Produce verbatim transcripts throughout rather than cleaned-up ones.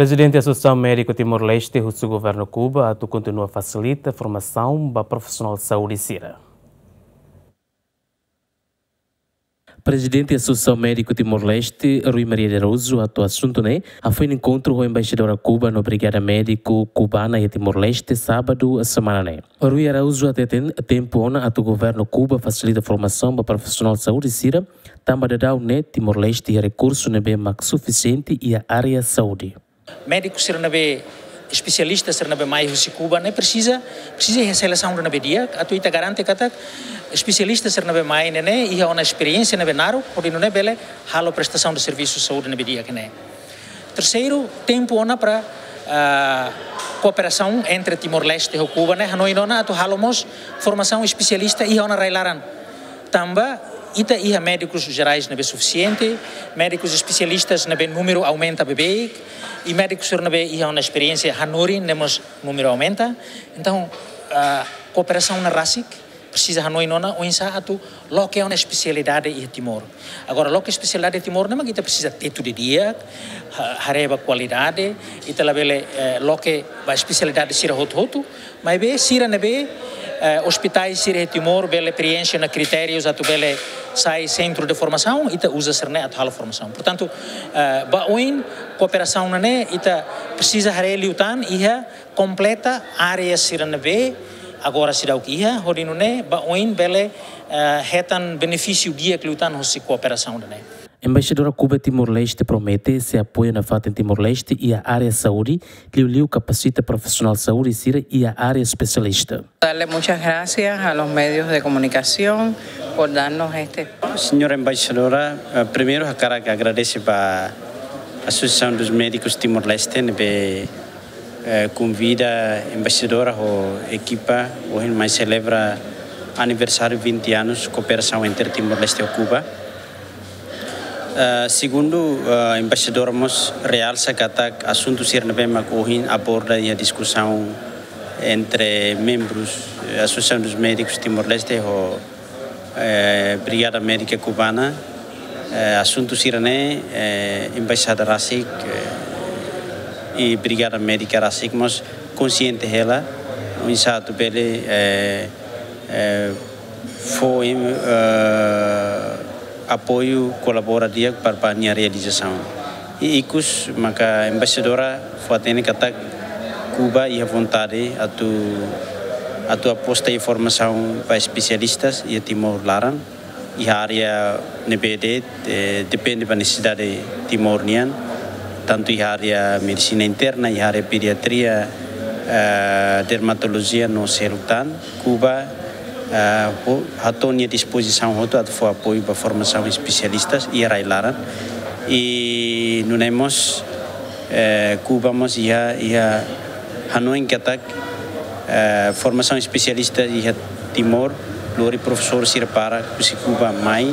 Prezidente Asosiasaun Médiku Timor-Leste husu governu Kuba atu kontinua fasilita formasaun ba profisionál saúde sira. Prezidente Asosiasaun Médiku Timor-Leste, Rui Maria de Araújo, hato'o asuntu ne'e hafoin enkontru ho embaixadora Kuba no Brigada Médiku Kubana iha Timor-Leste, sábadu semana ne'e. Rui Araújo hateten tempu ona atu governu Kuba fasilita formasaun ba profisionál saúde sira, tanba daudaun ne'e Timor-Leste iha rekursu ne'ebé mak sufisiente iha área saúde. Médiku sira ne'ebé, espesialista sira ne'ebé mai husi Kuba ne'e presiza, presiza iha selesaun ne'ebé di'ak, atu ita garante katak espesialista sira ne'ebé mai ne'e ne'e iha ona esperiénsia ne'ebé naruk, hodi nune'e bele halo prestasaun de servisu saúde ne'ebé di'ak ne'e. Terseiru, tempu ona para, ah, kooperasaun entre Timor-Leste ho Kuba ne'e, hanoin ona atu halo mós formasaun espesialista iha ona rai-laran. Tanba ita iha médikus jerais ne'ebé sufisiente, médikus espesialistas ne'ebé númeru aumenta beibeik, i médikus sira ne'ebé iha ona esperiénsia hanorin ne'e mós númeru aumenta. Entaun, ah, kooperasaun ne'e rasik, presiza hanoin ona oinsá atu loke ona espesialidade iha Timor. Agora, loke espesialidade iha Timor ne'e mak ita presiza tetu didi'ak, ha-, haree ba kualidade, ita labele, eh, loke ba espesialidade sira hotu-hotu, maibé sira ne'ebé, eh, ospitais sira iha Timor bele preenxe ona kritérius atu bele sai sentru de formasaun, ita uza sira ne'e atu halo formasaun. Portantu, eh, ba oin kooperasaun ne'e ne'e ita presiza haree liután iha kompleta área sira ne'ebé agora seidauk iha, hodi nune'e ba oin bele, eh, hetan benefísiu di'ak liután hosi kooperasaun ne'e ne'e. Embaixadora Kuba Timor-Leste promete sei apoia nafatin Timor-Leste iha área saúde, liuliu kapasita profisionál saúde sira iha área espesialista. Darle muchas gracias a los medios de comunicación por darnos este espacio. Señora embaixadora, eh, primeiru hakarak agradese ba Asosiasaun dos Médikus Timor-Leste ne'ebé, eh, konvida embaixadora ho ekipa ohin mai selebra aniversáriu vinte anos kooperasaun entre Timor-Leste ho Kuba. Eh, segundu, eh, embaixadora mós realsa katak asuntu sira ne'ebé mak ohin aborda iha diskusaun entre membrus, eh, Asosiasaun dos Médikus Timor-Leste ho, eh, Brigada Médika Kubana, eh, asuntu sira ne'e, eh, embaixada rasik, eh, i Brigada Médika rasik mós konsiente hela, oinsá atu bele, eh, eh, fó, eh, apoiu, kolabora di'ak para, para nia realizasaun. I ikus maka embaixadora fó-hatene katak Kuba iha vontade atu, atu aposta iha formasaun ba espesialistas iha Timor laran, iha área ne'ebé de'it, eh, depende ba nesesidade Timor nian, tantu iha área medisina interna, iha área pediatria, eh, dermatolojia no seluk tan. Kuba, eh, ho-, hato'o nia dispozisaun hotu atu fó apoiu ba formasaun espesialistas iha rai-laran. I nune'e mós, eh, Kuba mós iha, iha hanoin katak, eh, formasaun espesialista iha Timor, lori profesór sira para husi Kuba mai,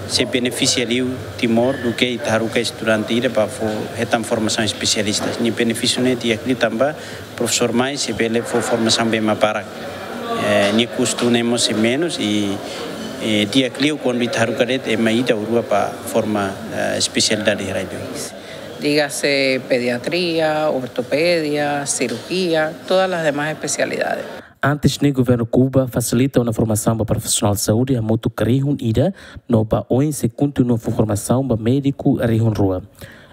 sei benefisia liu Timor duké ita haruka estudante ida ba fó hetan formasaun espesialista. Nia benefísiu ne'e di'ak liu tanba profesór mai sei bele fó formasaun bee mak barak. Eh, nia kustu ne'e mós sei menus i, eh, di'ak liu kuandu ita haruka de'it ema ida ou rua ba forma, eh, espesialidade iha rai-li'ur. Dígase pediatría, ortopedia, cirugía, todas las demás especialidades. Antes ne'e governu Kuba fasilita ona formasaun ba profisionál saúde hamutuk rihun ida, no ba oin sei kontinua fó formasaun ba médiku rihun rua.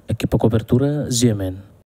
Ekipa kobertura, G M N.